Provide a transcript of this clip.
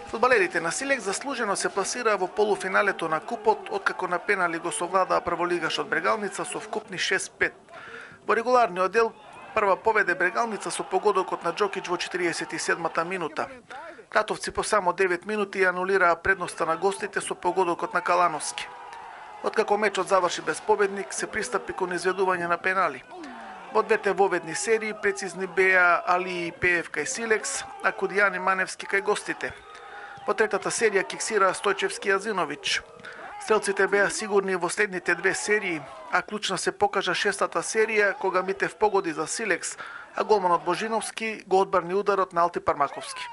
Фудбалерите на Силекс заслужено се пласираа во полуфиналето на купот, откако на пенали го совладаа прволигашот Брегалница со вкупни 6-5. Во регуларниот дел прва поведе Брегалница со погодокот на Джокич во 47-та минута. Кратовци по само 9 минути анулираа предноста на гостите со погодокот на Калановски. Откако мечот заврши без победник, се пристапи кон изведување на пенали. Во двете воведни серии прецизни беа Али и Пеев кај Силекс, а Кудијани Маневски кај гостите. Во третата серија киксираа Стојчевски и Азинович. Стрелците беа сигурни во следните две серии, а клучна се покажа шестата серија кога Митев погоди за Силекс, а голманот Божиновски го одбрани ударот на Алти Пармаковски.